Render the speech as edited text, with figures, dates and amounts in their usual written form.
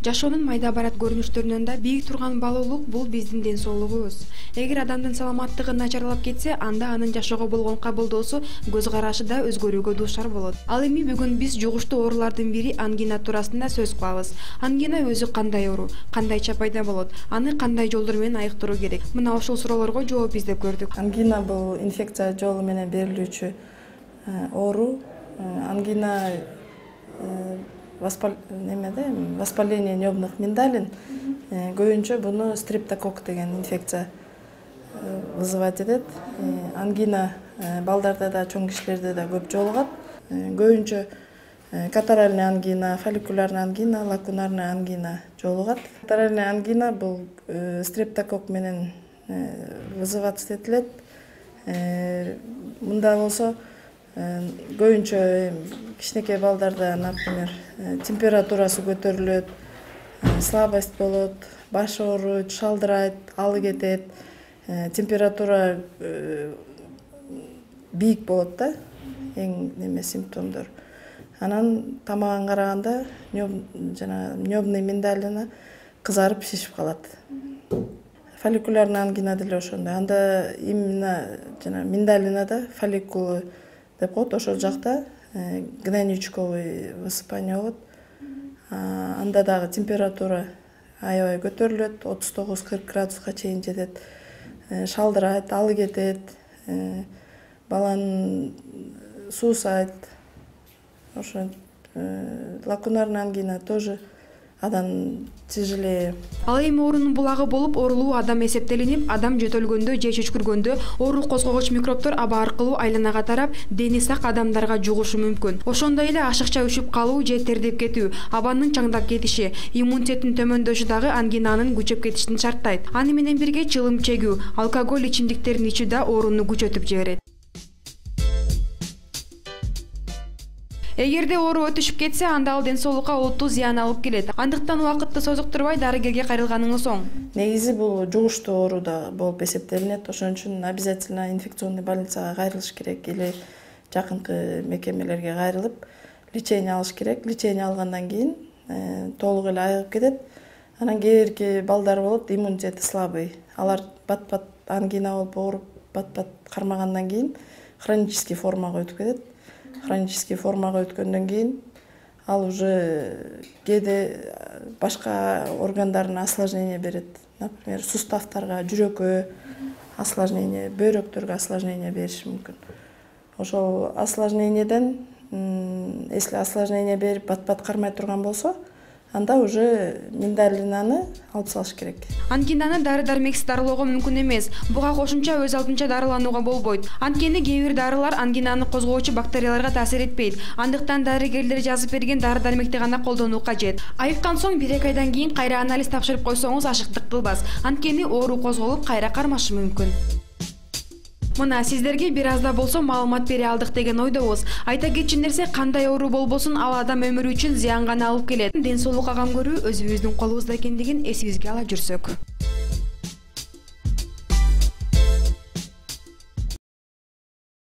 Жашоонун майда барат көрүнүштөрүнөн да бийик турган баалуулук бул биздин ден соолугубуз. Эгер адамдын саламаттыгы начарлап кетсе, анда анын жашоого болгон кабылдоосу, көз карашы да өзгөрүүгө дуушар болот. Ал эми бүгүн биз жугуштуу оорулардын бири ангина туурасында сөз кылабыз. Ангина өзү кандай оору, кандайча пайда болот, аны кандай жолдор менен айыктыруу керек? Мына ушул суроолорго жооп издеп көрдүк. Ангина бул инфекция жолу менен берилүүчү оору. Ангина воспаление небных миндалин, көбүнчө буну стрептококк деген инфекция вызывать этет. Ангина балдарда да, чоң кишилерде да көп жолугат. Көбүнчө катаральный ангина, фолликулярный ангина, лакунарный ангина жолугат. Катаральный ангина бул стрептококк менен вызываться этилет. Мында болсо көбүнчө кичинекей балдарда, например, температурасы көтөрүлөт, слабость болот, баш ооруйт, шалдырайт, алы кетет, температура бийик болот да, эң симптомдор. Анан тамагын караганда небный миндалина кызарып шишип калат. Фолликулярный ангина деле ошондой. Анда именно миндалинада фолликулы деп коет, ошол жакта гнойничковый высыпание болот. Анда дагы температура аябай көтөрүлөт, 39-40 градуска чейин жетет. Шалдырайт, алы кетет, баланын суусайт. Ошо лакунарный ангина тоже адам тяжелее. Ал эми оорунун булагы болуп, оорулуу адам эсептелинип, адам жөтөлгөндө же чүчкүргөндө оору козгогуч микробтор аба аркылуу айланага тарап, дени сак адамдарга жугушу мүмкүн. Ошондой эле ашыкча үшүп калуу же тердеп кетүү, абанын чаңдап кетиши, иммунитеттин төмөндөшү дагы ангинанын күчөп кетишин шарттайт. Аны менен бирге чылым чегүү, алкоголь ичимдиктерин ичүү да ооруну күчөтүп жиберет. Эгерде оору өтүшүп кетсе, анда ал ден соолукка олуттуу зыян алып келет. Андыктан убакытты созуктурбай дарыгерге кайрылганыңыз оң. Негизи бул жугуштуу оору да болуп эсептелинет. Ошон үчүн обязательно инфекционный больницага кайрылыш керек или жакынкы мекемелерге кайрылып, лечение алыш керек. Лечение алгандан кийин толук эле айыгып кетет. Анан кээ бирки балдар болот, иммунитети слабый. Алар бат-бат ангина болуп ооруп, бат-бат кармагандан кийин хронический формага өтүп кетет. Хронический формага өткөндөн кийин ал уже кээде башка органдарына осложнение берет. Например, суставтарга, жүрөккө осложнение, бөйрөктөргө осложнение бериши мүмкүн. Ошол осложнениеден, если осложнение берип бат-бат кармай турган болсо, анда уже миндалинаны алып салыш керек. Ангинаны дары-дармексиз дарылоого мүмкүн эмес. Буга кошумча өз алдынча дарыланууга болбойт. Анткени кээ бир дарылар ангинаны козгоочу бактерияларга таасир этпейт. Андыктан дарыгерлер жазып берген дары-дармекти гана колдонуу кажет. Айыккан соң 1-2 айдан кийин кайра анализ тапшырып койсоңуз ашыктык кылбас. Анткени оору козголуп, кайра кармашы мүмкүн. Мына сиздерге бир аз да болсо маалымат бере алдык деген ойдобуз. Айта кетчү нерсе, кандай оору болбосун, ал адам өмүрү үчүн зыян гана алып келет. Ден соолукка кам көрүү өзүбүздүн колубузда экендигин эсибизге ала жүрсөк.